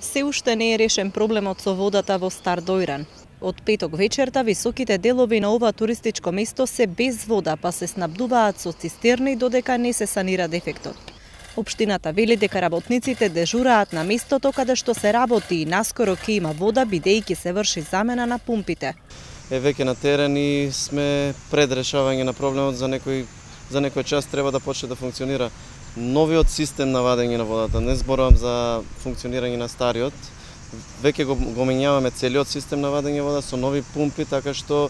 Се уште не е решен проблемот со водата во Стар Дојран. Од петок вечерта високите делови на ова туристичко место се без вода, па се снабдуваат со цистерни додека не се санира дефектот. Општината вели дека работниците дежураат на местото каде што се работи и наскоро ќе има вода бидејќи се врши замена на пумпите. Веќе на терен и сме пред решавање на проблемот, за некој час треба да почне да функционира новиот систем на вадење на водата. Не зборувам за функционирање на стариот. Веќе го менјаваме целиот систем на вадење вода со нови пумпи, така што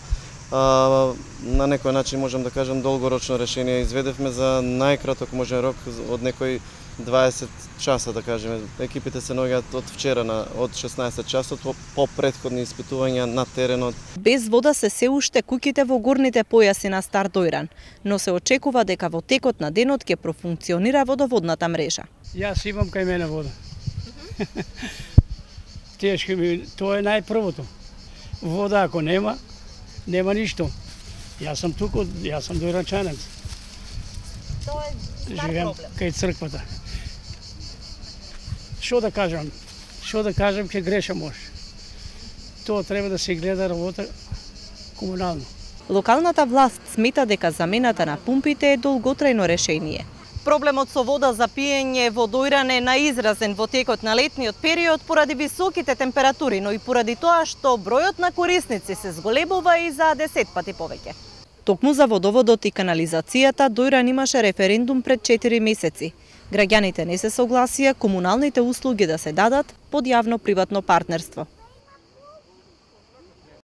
на некој начин можам да кажам долгорочно решение изведевме за најкраток можен рок од некој 20 часа, да кажеме. Екипите се наоѓаат од вчера од 16 часот по претходни испитувања на теренот. Без вода се уште куќите во горните појаси на Стар Дојран, но се очекува дека во текот на денот ќе профункционира водоводната мрежа. Јас имам кај мене вода. Тешко ми, тоа е најпрвото. Вода ако нема ништо. Јас сум туку, јас сум дојранчанец. Тоа е живеам кај црквата. Што да кажам? Ќе грешам може. Тоа треба да се гледа работа комунално. Локалната власт смета дека замената на пумпите е долготрајно решение. Проблемот со вода за пиење во Дојран е наизразен во текот на летниот период поради високите температури, но и поради тоа што бројот на корисници се зголемува и за 10 пати повеќе. Токму за водоводот и канализацијата Дојран имаше референдум пред 4 месеци. Граѓаните не се согласија комуналните услуги да се дадат под јавно-приватно партнерство.